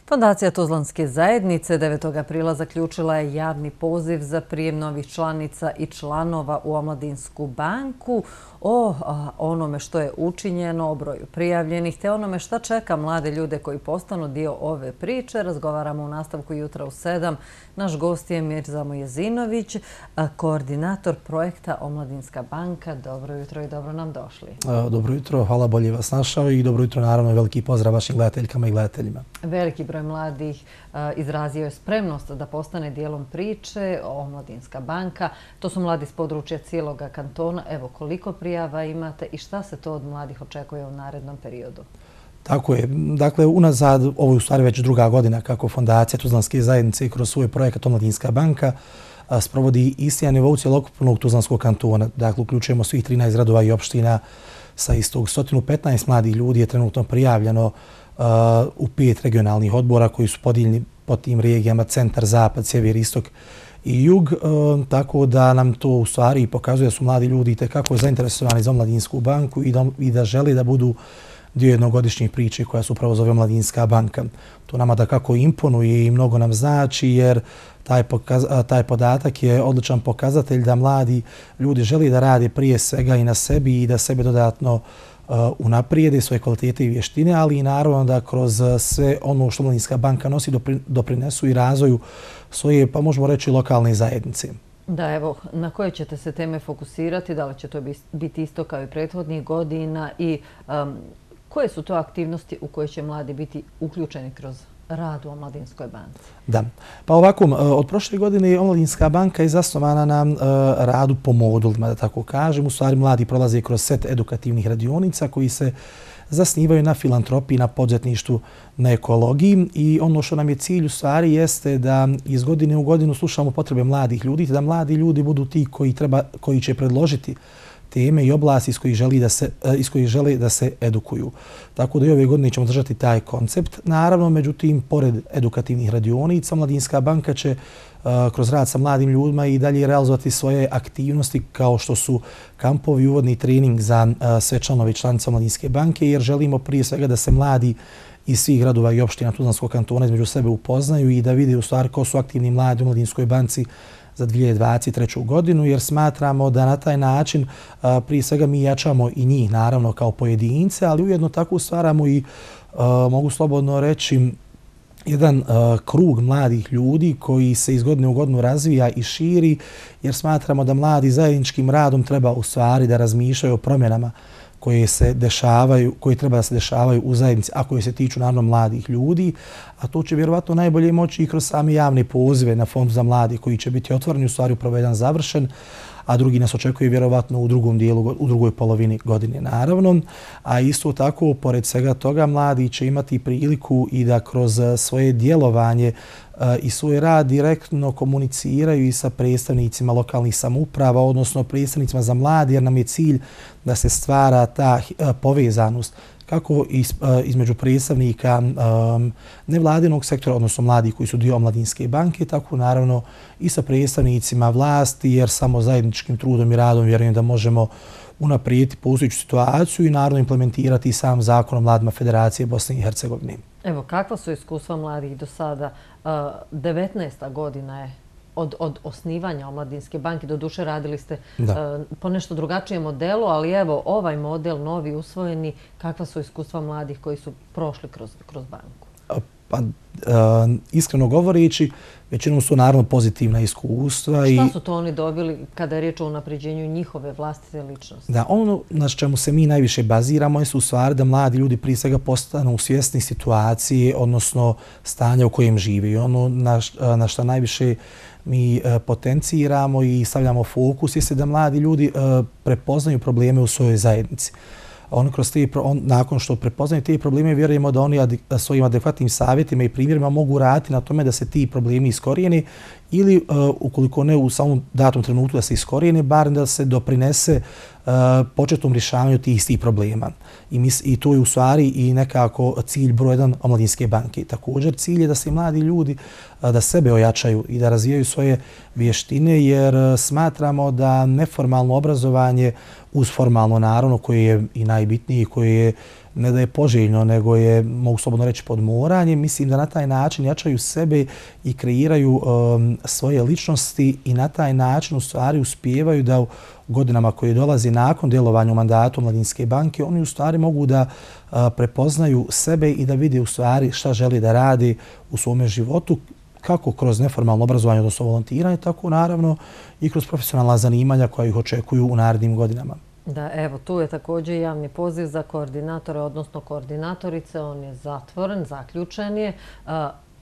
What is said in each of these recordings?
Fondacija Tuzlanske zajednice 9. aprila zaključila je javni poziv za prijem novih članica i članova u Omladinsku banku. O onome što je učinjeno, o broju prijavljenih te onome šta čeka mlade ljude koji postanu dio ove priče razgovaramo u nastavku jutra u 7. Naš gost je Mirza Mujezinović, koordinator projekta Omladinska banka. Dobro jutro i dobro nam došli. Dobro jutro, hvala, bolje vas našao i dobro jutro, naravno, veliki pozdrav vašim gledateljkama i gledateljima. Veliki broj mladih izrazio je spremnost da postane dijelom priče Omladinska banka. To su mladi s područja cijelog kantona. Evo, koliko prijava imate i šta se to od mladih očekuje u narednom periodu? Tako je. Dakle, unazad, ovo je u stvari već druga godina kako Fondacija Tuzlanske zajednice kroz svoj projekat Omladinska banka sprovodi isti na nivou cjelokupnog Tuzlanskog kantona. Dakle, uključujemo svih 13 gradova i opština sa istog. 115 mladih ljudi je trenutno prijavljeno u 5 regionalnih odbora koji su podijeljeni po tim regijama centar, zapad, sjever, istok i jug. Tako da nam to u stvari pokazuje da su mladi ljudi itekako zainteresovani za Omladinsku banku i da žele da budu dio jednogodišnjih priče koja se upravo zove Omladinska banka. To nama da kako imponuje i mnogo nam znači jer taj podatak je odličan pokazatelj da mladi ljudi žele da rade prije svega i na sebi i da sebe dodatno unaprijede svoje kvalitete i vještine, ali i naravno da kroz sve ono što Omladinska banka nosi doprinesu i razvoju svoje, pa možemo reći, lokalne zajednice. Da, evo, na koje ćete se teme fokusirati? Da li će to biti isto kao i prethodnih godina i koje su to aktivnosti u koje će mladi biti uključeni kroz rad u Omladinskoj banci? Da. Pa ovako, od prošle godine Omladinska banka je zasnovana na radu po modulima, da tako kažem. U stvari, mladi prolaze kroz set edukativnih radionica koji se zasnivaju na filantropiji, na poduzetništvu, na ekologiji i ono što nam je cilj u stvari jeste da iz godine u godinu slušamo potrebe mladih ljudi, da mladi ljudi budu ti koji će predložiti teme i oblasti iz kojih žele da se edukuju. Tako da i ove godine ćemo držati taj koncept. Naravno, međutim, pored edukativnih radionica, Omladinska banka će kroz rad sa mladim ljudima i dalje realizovati svoje aktivnosti kao što su kampovi, uvodni trening za sve članove i članice Omladinske banke, jer želimo prije svega da se mladi iz svih gradova i opština Tuzlanskog kantona između sebe upoznaju i da vide u stvari ko su aktivni mladi u Omladinskoj banci za 2023. godinu, jer smatramo da na taj način prije svega mi jačamo i njih, naravno, kao pojedince, ali ujedno tako stvaramo i, mogu slobodno reći, jedan krug mladih ljudi koji se iz godine u godinu razvija i širi, jer smatramo da mladi zajedničkim radom treba u stvari da razmišljaju o promjenama koje treba da se dešavaju u zajednici, a koje se tiču naravno mladih ljudi, a to će vjerovatno najbolje moći i kroz same javne pozive na Fond za mladi koji će biti otvoreni, u stvari upravo jedan završen, a drugi nas očekuje vjerovatno u drugom dijelu, u drugoj polovini godine naravno. A isto tako, pored svega toga, mladi će imati priliku i da kroz svoje djelovanje i svoj rad direktno komuniciraju i sa predstavnicima lokalnih samouprava, odnosno predstavnicima za mladi, jer nam je cilj da se stvara ta povezanost kako između predstavnika nevladinog sektora, odnosno mladih koji su dio Omladinske banke, tako naravno i sa predstavnicima vlasti, jer samo zajedničkim trudom i radom vjerujem da možemo unaprijediti postojeću situaciju i naravno implementirati sam zakon o mladima Federacije Bosne i Hercegovine. Evo, kakva su iskustva mladih do sada? 19. godina je od osnivanja Omladinske banke. Doduše radili ste po nešto drugačijem modelu, ali evo, ovaj model, novi, usvojeni, kakva su iskustva mladih koji su prošli kroz banku? Pa, iskreno govoreći, većinom su naravno pozitivna iskustva. Šta su to oni dobili kada je riječ o unapređenju njihove vlastite ličnosti? Da, ono na čemu se mi najviše baziramo je u stvari da mladi ljudi prije svega postanu svjesni situacije, odnosno stanja u kojem žive. I ono na što najviše mi potenciramo i stavljamo fokus jeste da mladi ljudi prepoznaju probleme u svojoj zajednici. Nakon što prepoznaju te probleme, vjerujemo da oni svojim adekvatnim savjetima i primjerima mogu raditi na tome da se ti problemi iskorijene ili, ukoliko ne u samom datom trenutku da se iskorijene, bar da se doprinese početnom rješavanju tih istih problema. I to je u stvari i nekako cilj broj 1 Omladinske banke. Također, cilj je da se mladi ljudi da sebe ojačaju i da razvijaju svoje vještine, jer smatramo da neformalno obrazovanje uz formalno, naravno, koje je i najbitnije, koje je ne da je poželjno, nego je, mogu slobodno reći, podmoranje. Mislim da na taj način jačaju sebe i kreiraju svoje ličnosti i na taj način u stvari uspijevaju da u godinama koje dolazi nakon djelovanja u mandatu Omladinske banke, oni u stvari mogu da prepoznaju sebe i da vide u stvari šta želi da radi u svome životu, kako kroz neformalno obrazovanje, odnosno volontiranje, tako naravno i kroz profesionalna zanimanja koja ih očekuju u narednim godinama. Da, evo, tu je također javni poziv za koordinatore, odnosno koordinatorice. On je zatvoren, zaključen je.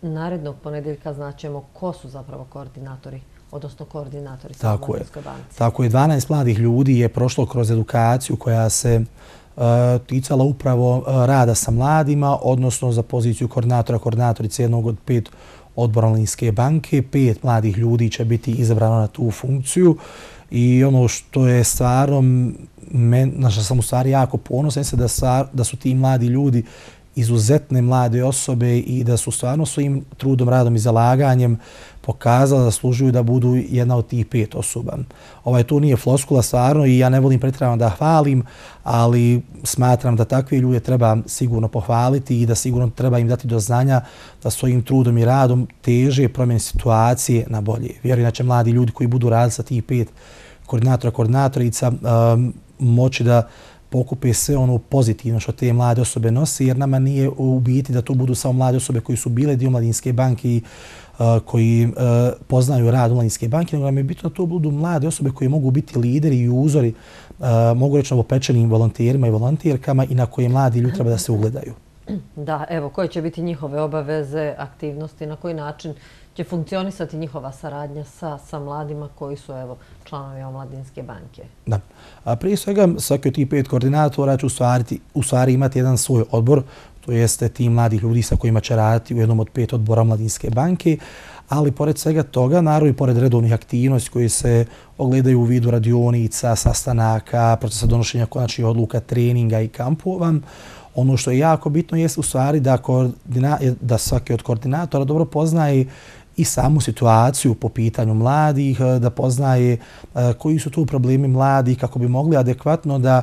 Narednog ponedjeljka znaćemo ko su zapravo koordinatori, odnosno koordinatorice u Omladinskoj banci. Tako je. 12 mladih ljudi je prošlo kroz edukaciju koja se ticala upravo rada sa mladima, odnosno za poziciju koordinatorice jednog od 5 odbora Omladinske banke. 5 mladih ljudi će biti izabrano na tu funkciju. I ono što je stvarno, na što sam u stvari jako ponosan, je da su ti mladi ljudi izuzetne mlade osobe i da su stvarno svojim trudom, radom i zalaganjem pokazali da zaslužuju da budu jedna od tih 5 osoba. To nije floskula stvarno i ja ne volim pretjerano da hvalim, ali smatram da takve ljude treba sigurno pohvaliti i da sigurno treba im dati do znanja da svojim trudom i radom teže promjene situacije na bolje. Vjerujem da će mladi ljudi koji budu radili sa tih 5 koordinatorica moći da pokupe sve ono pozitivno što te mlade osobe nose, jer nama nije u biti da to budu samo mlade osobe koji su bile dio Omladinske banke i koji poznaju rad Omladinske banke, nego nam je bitno da to budu mlade osobe koji mogu biti lideri i uzori, mogu reći novopečenim volonterima i volonterkama i na koje mladi ljudi treba da se ugledaju. Da, evo, koje će biti njihove obaveze, aktivnosti, na koji način će funkcionisati njihova saradnja sa mladima koji su članovi Omladinske banke? Da. Prije svega, svaki od tih 5 koordinatora će u stvari imati jedan svoj odbor, to jeste tim mladih ljudi sa kojima će raditi u jednom od 5 odbora Omladinske banke, ali pored svega toga, naravno i pored redovnih aktivnosti koji se ogledaju u vidu radionica, sastanaka, procesa donošenja konačnih odluka, treninga i kampova, ono što je jako bitno je u stvari da svaki od koordinatora dobro poznaje i samu situaciju po pitanju mladih, da poznaje koji su tu problemi mladih, kako bi mogli adekvatno da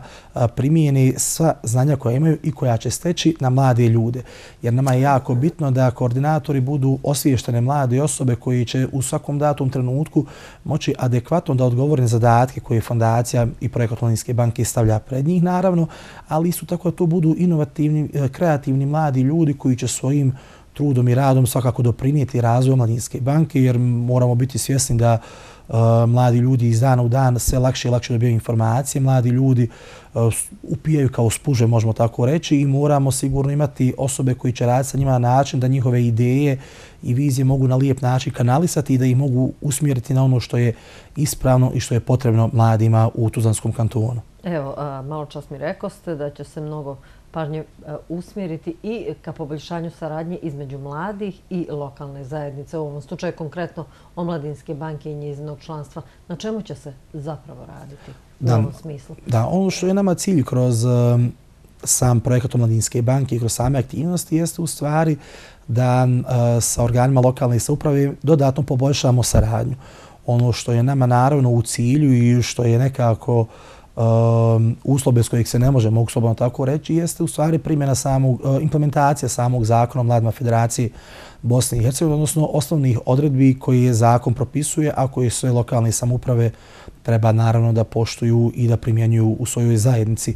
primijeni sva znanja koja imaju i koja će steći na mlade ljude. Jer nama je jako bitno da koordinatori budu osviještene mlade osobe koji će u svakom datom trenutku moći adekvatno da odgovore na zadatke koje fondacija i projekat Omladinske banke stavlja pred njih, naravno, ali isto tako da tu budu inovativni, kreativni mladi ljudi koji će svojim trudom i radom svakako doprinijeti razvoju Omladinske banke, jer moramo biti svjesni da mladi ljudi iz dana u dan sve lakše i lakše dobijaju informacije, mladi ljudi upijaju kao spuže, možemo tako reći, i moramo sigurno imati osobe koji će raditi sa njima na način da njihove ideje i vizije mogu na lijep način kanalisati i da ih mogu usmjeriti na ono što je ispravno i što je potrebno mladima u Tuzlanskom kantonu. Evo, malo čas mi rekoste da će se mnogo pažnje usmjeriti i ka poboljšanju saradnje između mladih i lokalne zajednice, u ovom slučaju konkretno Omladinske banke i njezinog članstva. Na čemu će se zapravo raditi u ovom smislu? Da, ono što je nama cilj kroz sam projekat Omladinske banke i kroz same aktivnosti jeste u stvari da sa organima lokalne samouprave dodatno poboljšamo saradnju. Ono što je nama naravno u cilju i što je nekako uslov bez kojeg se ne može, mogu slobodno tako reći, jeste u stvari implementacija samog zakona o mladima Federacije Bosne i Hercegovine, odnosno osnovnih odredbi koji je zakon propisuje, a koji sve lokalne samouprave treba naravno da poštuju i da primjenjuju u svojoj zajednici.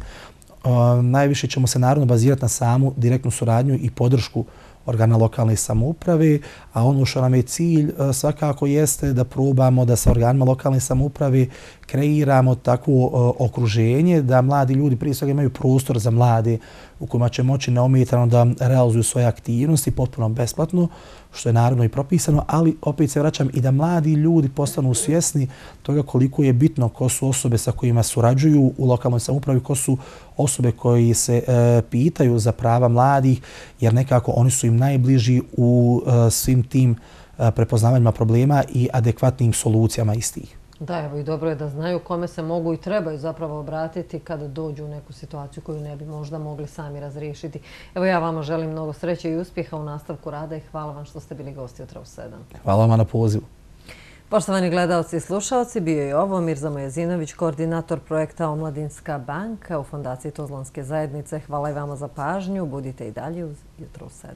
Najviše ćemo se naravno bazirati na samu direktnu suradnju i podršku organa lokalne samouprave, a ono što nam je cilj svakako jeste da probamo da sa organima lokalne samouprave kreiramo takvo okruženje da mladi ljudi prije svega imaju prostor za mlade u kojima će moći neometano da realizuju svoje aktivnosti potpuno besplatno, što je naravno i propisano, ali opet se vraćam i da mladi ljudi postanu svjesni toga koliko je bitno ko su osobe sa kojima surađuju u lokalnoj samoupravi, ko su osobe koji se pitaju za prava mladih, jer nekako oni su im najbliži u svim tim prepoznavanjima problema i adekvatnim solucijama istih. Da, evo i dobro je da znaju kome se mogu i trebaju zapravo obratiti kada dođu u neku situaciju koju ne bi možda mogli sami razriješiti. Evo ja vama želim mnogo sreće i uspjeha u nastavku rada i hvala vam što ste bili gosti Jutra u 7. Hvala vam na pozivu. Poštovani gledalci i slušalci, bio je ovo Mirza Mojezinović, koordinator projekta Omladinska banka u Fondaciji Tuzlanske zajednice. Hvala i vama za pažnju. Budite i dalje uz Jutro u 7.